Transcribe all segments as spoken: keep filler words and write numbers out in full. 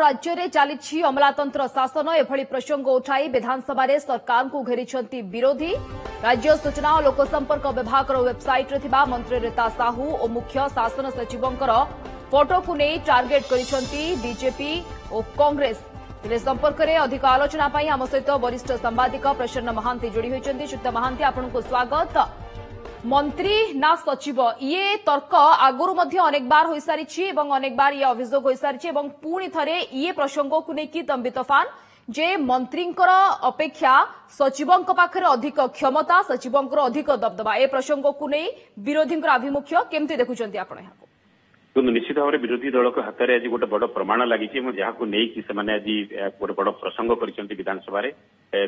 ରାଜ୍ୟରେ ଚାଲିଛି ଅମଲାତନ୍ତ୍ର ଶାସନ। ଏଭଳି ପ୍ରସଙ୍ଗ ଉଠାଇ ବିଧାନସଭାରେ ସରକାରଙ୍କୁ ଘେରିଛନ୍ତି ବିରୋଧୀ। ରାଜ୍ୟ ସୂଚନା ଓ ଲୋକସମ୍ପର୍କ ବିଭାଗର ୱେବସାଇଟ୍ରେ ଥିବା ମନ୍ତ୍ରୀ ରୀତା ସାହୁ ଓ ମୁଖ୍ୟ ଶାସନ ସଚିବଙ୍କର ଫଟୋକୁ ନେଇ ଟାର୍ଗେଟ କରିଛନ୍ତି ବିଜେପି ଓ କଂଗ୍ରେସ। ତେବେ ସମ୍ପର୍କରେ ଅଧିକ ଆଲୋଚନା ପାଇଁ ଆମ ସହିତ ବରିଷ୍ଠ ସାମ୍ବାଦିକ ପ୍ରସନ୍ନ ମହାନ୍ତି ଯୋଡ଼ି ହୋଇଛନ୍ତି। ଶ୍ରୀଯୁକ୍ତ ମହାନ୍ତି, ଆପଣଙ୍କୁ ସ୍ୱାଗତ। ମନ୍ତ୍ରୀ ନା ସଚିବ, ଇଏ ତର୍କ ଆଗରୁ ମଧ୍ୟ ଅନେକ ବାର ହୋଇସାରିଛି ଏବଂ ଅନେକ ବାର ଇଏ ଅଭିଯୋଗ ହୋଇସାରିଛି ଏବଂ ପୁଣି ଥରେ ଇଏ ପ୍ରସଙ୍ଗକୁ ନେଇକି ତମ୍ବି ତୋଫାନ ଯେ ମନ୍ତ୍ରୀଙ୍କର ଅପେକ୍ଷା ସଚିବଙ୍କ ପାଖରେ ଅଧିକ କ୍ଷମତା, ସଚିବଙ୍କର ଅଧିକ ଦବଦବା। ଏ ପ୍ରସଙ୍ଗକୁ ନେଇ ବିରୋଧୀଙ୍କର ଆଭିମୁଖ୍ୟ କେମିତି ଦେଖୁଛନ୍ତି ଆପଣ ଏହାକୁ? କିନ୍ତୁ ନିଶ୍ଚିତ ଭାବରେ ବିରୋଧୀ ଦଳଙ୍କ ହାତରେ ଆଜି ଗୋଟେ ବଡ ପ୍ରମାଣ ଲାଗିଛି ଏବଂ ଯାହାକୁ ନେଇକି ସେମାନେ ଆଜି ଗୋଟେ ବଡ ପ୍ରସଙ୍ଗ କରିଛନ୍ତି ବିଧାନସଭାରେ।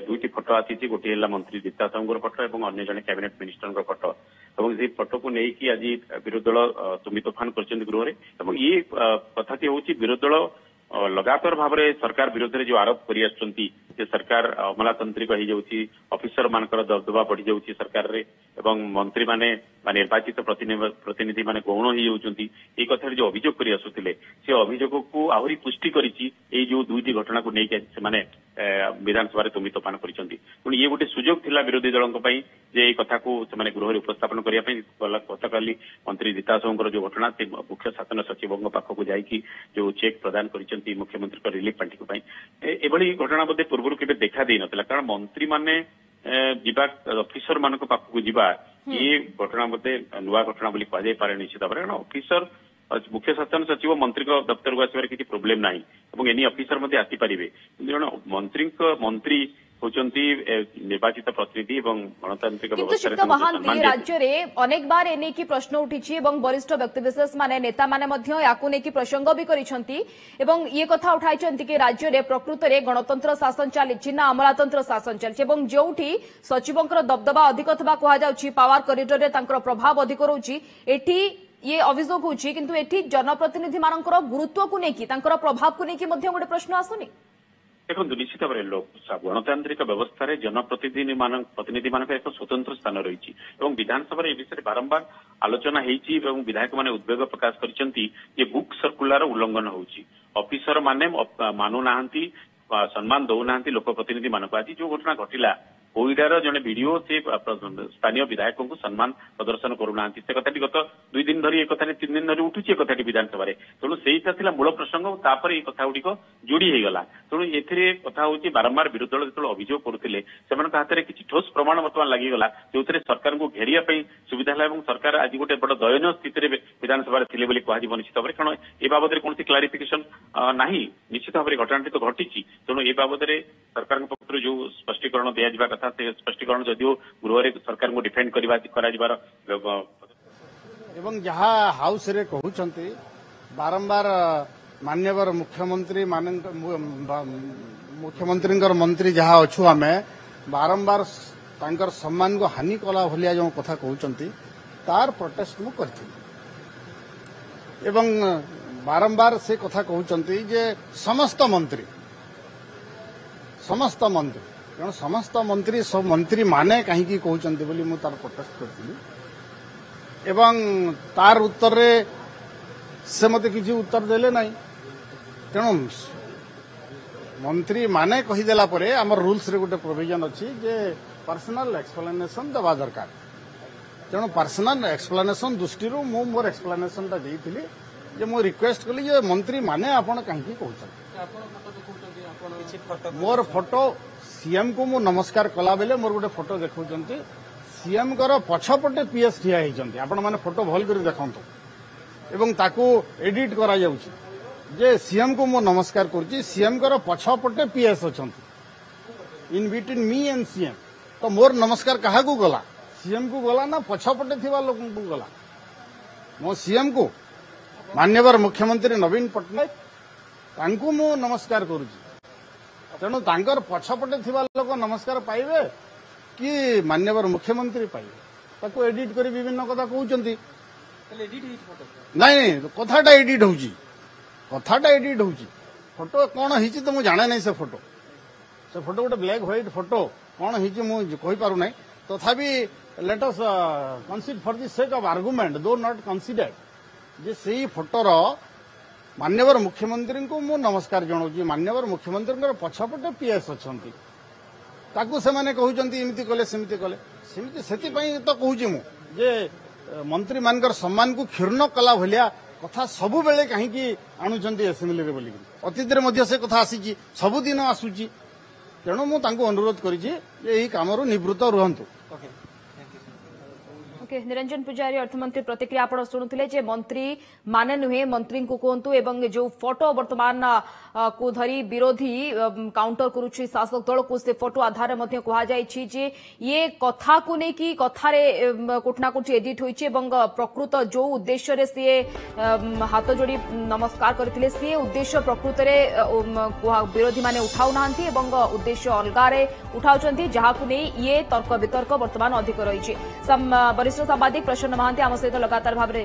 ଦୁଇଟି ଫଟୋ ଆସିଛି, ଗୋଟିଏ ହେଲା ମନ୍ତ୍ରୀ ରୀତା ସାହୁଙ୍କର ଫଟୋ ଏବଂ ଅନ୍ୟ ଜଣେ କ୍ୟାବିନେଟ ମିନିଷ୍ଟରଙ୍କ ଫଟୋ, ଏବଂ ସେଇ ଫଟୋକୁ ନେଇକି ଆଜି ବିରୋଧୀ ଦଳ ତୁମି ତୋଫାନ କରିଛନ୍ତି ଗୃହରେ। ଏବଂ ଇଏ କଥାଟି ହଉଛି, ବିରୋଧୀ ଦଳ ଲଗାତାର ଭାବରେ ସରକାର ବିରୋଧରେ ଯୋଉ ଆରୋପ କରି ଆସୁଛନ୍ତି ଯେ ସରକାର ଅମଲାତାନ୍ତ୍ରିକ ହେଇଯାଉଛି, ଅଫିସର ମାନଙ୍କର ଦବଦବା ବଢିଯାଉଛି ସରକାରରେ ଏବଂ ମନ୍ତ୍ରୀମାନେ ବା ନିର୍ବାଚିତ ପ୍ରତିନିଧି ମାନେ ଗୌଣ ହେଇଯାଉଛନ୍ତି, ଏଇ କଥାରେ ଯୋଉ ଅଭିଯୋଗ କରି ଆସୁଥିଲେ ସେ ଅଭିଯୋଗକୁ ଆହୁରି ପୁଷ୍ଟି କରିଛି ଏଇ ଯୋଉ ଦୁଇଟି ଘଟଣାକୁ ନେଇକି ଆଜି ସେମାନେ ବିଧାନସଭାରେ ତୁମି ତୋଫାନ କରିଛନ୍ତି। ତେଣୁ ଇଏ ଗୋଟେ ସୁଯୋଗ ଥିଲା ବିରୋଧୀ ଦଳଙ୍କ ପାଇଁ ଯେ ଏଇ କଥାକୁ ସେମାନେ ଗୃହରେ ଉପସ୍ଥାପନ କରିବା ପାଇଁ। ଗତକାଲି ମନ୍ତ୍ରୀ ରୀତା ସାହୁଙ୍କର ଯୋଉ ଘଟଣା, ସେ ମୁଖ୍ୟ ଶାସନ ସଚିବଙ୍କ ପାଖକୁ ଯାଇକି ଯୋଉ ଚେକ୍ ପ୍ରଦାନ କରିଛନ୍ତି ମୁଖ୍ୟମନ୍ତ୍ରୀଙ୍କ ରିଲିଫ ପାଣ୍ଠିକୁ ପାଇଁ, ଏଭଳି ଘଟଣା ବୋଧେ ପୂର୍ବରୁ କେବେ ଦେଖା ଦେଇନଥିଲା। କାରଣ ମନ୍ତ୍ରୀମାନେ ଯିବା, ଅଫିସର ମାନଙ୍କ ପାଖକୁ ଯିବା, ଇଏ ଘଟଣା ବୋଧେ ନୂଆ ଘଟଣା ବୋଲି କୁହାଯାଇପାରେ ନିଶ୍ଚିତ ଭାବରେ। କାରଣ ଅଫିସର, ମୁଖ୍ୟ ଶାସନ ସଚିବ ମନ୍ତ୍ରୀଙ୍କ ଦପ୍ତରକୁ ଆସିବାରେ କିଛି ପ୍ରୋବ୍ଲେମ ନାହିଁ ଏବଂ ଏନି ଅଫିସର ମଧ୍ୟ ଆସିପାରିବେ। କିନ୍ତୁ ଜଣେ ମନ୍ତ୍ରୀଙ୍କ, ମନ୍ତ୍ରୀ ହଉଛନ୍ତି ନିର୍ବାଚିତ ପ୍ରତିନିଧି ଏବଂ ଗଣତାନ୍ତ୍ରିକ କିନ୍ତୁ ଶ୍ରୀଯୁକ୍ତ ମହାନ୍ତି, ରାଜ୍ୟରେ ଅନେକ ବାର ଏନେଇକି ପ୍ରଶ୍ନ ଉଠିଛି ଏବଂ ବରିଷ୍ଠ ବ୍ୟକ୍ତିବିଶେଷ ମାନେ, ନେତାମାନେ ମଧ୍ୟ ୟାକୁ ନେଇକି ପ୍ରସଙ୍ଗ ବି କରିଛନ୍ତି ଏବଂ ଇଏ କଥା ଉଠାଇଛନ୍ତି କି ରାଜ୍ୟରେ ପ୍ରକୃତରେ ଗଣତନ୍ତ୍ର ଶାସନ ଚାଲିଛି ନା ଅମଲାତନ୍ତ୍ର ଶାସନ ଚାଲିଛି। ଏବଂ ଯେଉଁଠି ସଚିବଙ୍କର ଦବଦବା ଅଧିକ ଥିବା କୁହାଯାଉଛି, ପାୱାର କରିଡରରେ ତାଙ୍କର ପ୍ରଭାବ ଅଧିକ ରହୁଛି, ଏଠି ଇଏ ଅଭିଯୋଗ ହେଉଛି। କିନ୍ତୁ ଏଠି ଜନପ୍ରତିନିଧିମାନଙ୍କର ଗୁରୁତ୍ୱକୁ ନେଇକି, ତାଙ୍କର ପ୍ରଭାବକୁ ନେଇକି ମଧ୍ୟ ଗୋଟେ ପ୍ରଶ୍ନ ଆସୁନି? ଦେଖନ୍ତୁ, ନିଶ୍ଚିତ ଭାବରେ ଗଣତାନ୍ତ୍ରିକ ବ୍ୟବସ୍ଥାରେ ଜନପ୍ରତିନିଧି ପ୍ରତିନିଧି ମାନଙ୍କର ଏକ ସ୍ୱତନ୍ତ୍ର ସ୍ଥାନ ରହିଛି ଏବଂ ବିଧାନସଭାରେ ଏ ବିଷୟରେ ବାରମ୍ବାର ଆଲୋଚନା ହେଇଛି ଏବଂ ବିଧାୟକମାନେ ଉଦ୍ବେଗ ପ୍ରକାଶ କରିଛନ୍ତି ଯେ ବୁକ୍ ସର୍କୁଲାର ଉଲ୍ଲଂଘନ ହଉଛି, ଅଫିସର ମାନେ ମାନୁନାହାନ୍ତି, ସମ୍ମାନ ଦଉନାହାନ୍ତି ଲୋକ ପ୍ରତିନିଧି ମାନଙ୍କୁ। ଆଜି ଯୋଉ ଘଟଣା ଘଟିଲା, କୋଇଡାର ଜଣେ ବିଡିଓ ସେ ସ୍ଥାନୀୟ ବିଧାୟକଙ୍କୁ ସମ୍ମାନ ପ୍ରଦର୍ଶନ କରୁନାହାନ୍ତି, ସେ କଥାଟି ଗତ ଦୁଇ ଦିନ ଧରି, ଏ କଥାଟି ତିନି ଦିନ ଧରି ଉଠୁଛି ଏ କଥାଟି ବିଧାନସଭାରେ। ତେଣୁ ସେଇଟା ଥିଲା ମୂଳ ପ୍ରସଙ୍ଗ, ତାପରେ ଏଇ କଥା ଗୁଡିକ ଯୋଡି ହେଇଗଲା। ତେଣୁ ଏଥିରେ କଥା ହଉଛି, ବାରମ୍ବାର ବିରୋଧୀ ଦଳ ଯେତେବେଳେ ଅଭିଯୋଗ କରୁଥିଲେ, ସେମାନଙ୍କ ହାତରେ କିଛି ଠୋସ୍ ପ୍ରମାଣ ବର୍ତ୍ତମାନ ଲାଗିଗଲା, ଯୋଉଥିରେ ସରକାରଙ୍କୁ ଘେରିବା ପାଇଁ ସୁବିଧା ହେଲା ଏବଂ ସରକାର ଆଜି ଗୋଟେ ବଡ ଦୟନୀୟ ସ୍ଥିତିରେ ବିଧାନସଭାରେ ଥିଲେ ବୋଲି କୁହାଯିବ ନିଶ୍ଚିତ ଭାବରେ। କାରଣ ଏ ବାବଦରେ କୌଣସି କ୍ଲାରିଫିକେସନ ନାହିଁ। ନିଶ୍ଚିତ ଭାବରେ ଘଟଣାଟି ତ ଘଟିଛି, ତେଣୁ ଏ ବାବଦରେ ସରକାରଙ୍କ ପକ୍ଷରୁ ଯୋଉ ସ୍ପଷ୍ଟୀକରଣ ଦିଆଯିବା କଥା ସେ ସ୍ପଷ୍ଟୀକରଣ, ଯଦିଓ ଗୃହରେ ସରକାରଙ୍କୁ ଡିଫେଣ୍ଡ କରିବା କରାଯିବାର ଏବଂ ଯାହା ହାଉସରେ କହୁଛନ୍ତି ବାରମ୍ବାର, ମାନ୍ୟବର ମୁଖ୍ୟମନ୍ତ୍ରୀ, ମୁଖ୍ୟମନ୍ତ୍ରୀଙ୍କର ମନ୍ତ୍ରୀ ଯାହା ଅଛୁ ଆମେ, ବାରମ୍ବାର ତାଙ୍କର ସମ୍ମାନକୁ ହାନି କଲା ଭଳିଆ ଯେଉଁ କଥା କହୁଛନ୍ତି ତାର ପ୍ରୋଟେଷ୍ଟ ମୁଁ କରିଥିଲି। ଏବଂ ବାରମ୍ବାର ସେ କଥା କହୁଛନ୍ତି ଯେ ସମସ୍ତ ମନ୍ତ୍ରୀ, ସମସ୍ତ ମନ୍ତ୍ରୀ, ତେଣୁ ସମସ୍ତ ମନ୍ତ୍ରୀ, ସବୁ ମନ୍ତ୍ରୀ ମାନେ କାହିଁକି କହୁଛନ୍ତି ବୋଲି ମୁଁ ତାର ପ୍ରୋଟେଷ୍ଟ କରିଥିଲି। ଏବଂ ତାର ଉତ୍ତରରେ ସେ ମୋତେ କିଛି ଉତ୍ତର ଦେଲେ ନାହିଁ। ତେଣୁ ମନ୍ତ୍ରୀ ମାନେ କହିଦେଲା ପରେ ଆମର ରୁଲ୍ସରେ ଗୋଟେ ପ୍ରୋଭିଜନ ଅଛି ଯେ ପର୍ସନାଲ ଏକ୍ସପ୍ଲାନେସନ ଦେବା ଦରକାର। ତେଣୁ ପର୍ସନାଲ ଏକ୍ସପ୍ଲାନେସନ ଦୃଷ୍ଟିରୁ ମୁଁ ମୋର ଏକ୍ସପ୍ଲାନେସନଟା ଦେଇଥିଲି ଯେ ମୁଁ ରିକ୍ୱେଷ୍ଟ କଲି ଯେ ମନ୍ତ୍ରୀ ମାନେ ଆପଣ କାହିଁକି କହୁଛନ୍ତି। ମୋର ଫଟୋ, ସିଏମ୍କୁ ମୁଁ ନମସ୍କାର କଲାବେଳେ ମୋର ଗୋଟେ ଫଟୋ ଦେଖାଉଛନ୍ତି, ସିଏମ୍ଙ୍କର ପଛପଟେ ପିଏସ୍ ଠିଆ ହେଇଛନ୍ତି। ଆପଣମାନେ ଫଟୋ ଭଲ କରି ଦେଖନ୍ତୁ। ଏବଂ ତାକୁ ଏଡିଟ୍ କରାଯାଉଛି ଯେ ସିଏମ୍କୁ ମୁଁ ନମସ୍କାର କରୁଛି, ସିଏମ୍ଙ୍କର ପଛପଟେ ପିଏସ୍ ଅଛନ୍ତି, in between me and CM. ତ ମୋର ନମସ୍କାର କାହାକୁ ଗଲା? ସିଏମ୍କୁ ଗଲା ନା ପଛପଟେ ଥିବା ଲୋକଙ୍କୁ ଗଲା? ମୋ ସିଏମ୍କୁ, ମାନ୍ୟବର ମୁଖ୍ୟମନ୍ତ୍ରୀ ନବୀନ ପଟ୍ଟନାୟକ, ତାଙ୍କୁ ମୁଁ ନମସ୍କାର କରୁଛି। ତେଣୁ ତାଙ୍କର ପଛପଟେ ଥିବା ଲୋକ ନମସ୍କାର ପାଇବେ କି ମାନ୍ୟବର ମୁଖ୍ୟମନ୍ତ୍ରୀ ପାଇବେ? ତାକୁ ଏଡିଟ୍ କରି ବିଭିନ୍ନ କଥା କହୁଛନ୍ତି। ନାଇଁ ନାଇଁ, କଥାଟା ଏଡିଟ୍ ହଉଛି, କଥାଟା ଏଡିଟ୍ ହଉଛି। ଫଟୋ କଣ ହେଇଛି ତ ମୁଁ ଜାଣେ ନାହିଁ। ସେ ଫଟୋ ସେ ଫଟୋ ଗୋଟେ ବ୍ଲାକ୍ ହ୍ୱାଇଟ୍ ଫଟୋ, କଣ ହେଇଛି ମୁଁ କହିପାରୁନାହିଁ। ତଥାପି let us concede for the sake of argument, though not considered, ଯେ ସେଇ ଫଟୋର ମାନ୍ୟବର ମୁଖ୍ୟମନ୍ତ୍ରୀଙ୍କୁ ମୁଁ ନମସ୍କାର ଜଣାଉଛି, ମାନ୍ୟବର ମୁଖ୍ୟମନ୍ତ୍ରୀଙ୍କର ପଛପଟେ ପିଏସ୍ ଅଛନ୍ତି, ତାକୁ ସେମାନେ କହୁଛନ୍ତି ଏମିତି କଲେ ସେମିତି କଲେ ସେମିତି। ସେଥିପାଇଁ ତ କହୁଛି ମୁଁ ଯେ ମନ୍ତ୍ରୀମାନଙ୍କର ସମ୍ମାନକୁ କ୍ଷୁଣ୍ଣ କଲା ଭଳିଆ କଥା ସବୁବେଳେ କାହିଁକି ଆଣୁଛନ୍ତି ଆସେମ୍ବଲିରେ ବୋଲିକିରି। ଅତୀତରେ ମଧ୍ୟ ସେ କଥା ଆସିଛି, ସବୁଦିନ ଆସୁଛି। ତେଣୁ ମୁଁ ତାଙ୍କୁ ଅନୁରୋଧ କରିଛି ଯେ ଏହି କାମରୁ ନିବୃତ୍ତ ରୁହନ୍ତୁ। ଓକେ, ନିରଞ୍ଜନ ପୂଜାରୀ, ଅର୍ଥମନ୍ତ୍ରୀ ପ୍ରତିକ୍ରିୟା ଆପଣ ଶୁଣୁଥିଲେ ଯେ ମନ୍ତ୍ରୀ ମାନେ ନୁହେଁ, ମନ୍ତ୍ରୀଙ୍କୁ କୁହନ୍ତୁ। ଏବଂ ଯେଉଁ ଫଟୋ ବର୍ତ୍ତମାନ କୁ ଧରି ବିରୋଧୀ କାଉଣ୍ଟର କରୁଛି ଶାସକ ଦଳକୁ, ସେ ଫଟୋ ଆଧାରରେ ମଧ୍ୟ କୁହାଯାଇଛି ଯେ ଇଏ କଥାକୁ ନେଇକି କଥାରେ କୋଉଠି ନା କୋଉଠି ଏଡିଟ୍ ହୋଇଛି ଏବଂ ପ୍ରକୃତ ଯେଉଁ ଉଦ୍ଦେଶ୍ୟରେ ସିଏ ହାତ ଯୋଡ଼ି ନମସ୍କାର କରିଥିଲେ ସିଏ ଉଦ୍ଦେଶ୍ୟ ପ୍ରକୃତରେ ବିରୋଧୀମାନେ ଉଠାଉନାହାନ୍ତି ଏବଂ ଉଦ୍ଦେଶ୍ୟ ଅଲଗାରେ ଉଠାଉଛନ୍ତି, ଯାହାକୁ ନେଇ ଇଏ ତର୍କ ବିତର୍କ ବର୍ତ୍ତମାନ ଅଧିକ ରହିଛି। ବରିଷ୍ଠ ସାମ୍ବାଦିକ ପ୍ରସନ୍ନ ମହାନ୍ତି ଆମ ସହିତ ଲଗାତାର ଭାବରେ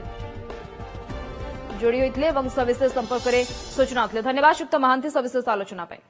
ଯୋଡ଼ି ହୋଇଥିଲେ ଏବଂ ସବିଶେଷ ସମ୍ପର୍କରେ ସୂଚନା ଦେଇଥିଲେ। ଧନ୍ୟବାଦ ଶ୍ରୀଯୁକ୍ତ ମହାନ୍ତି ସବିଶେଷ ଆଲୋଚନା ପାଇଁ।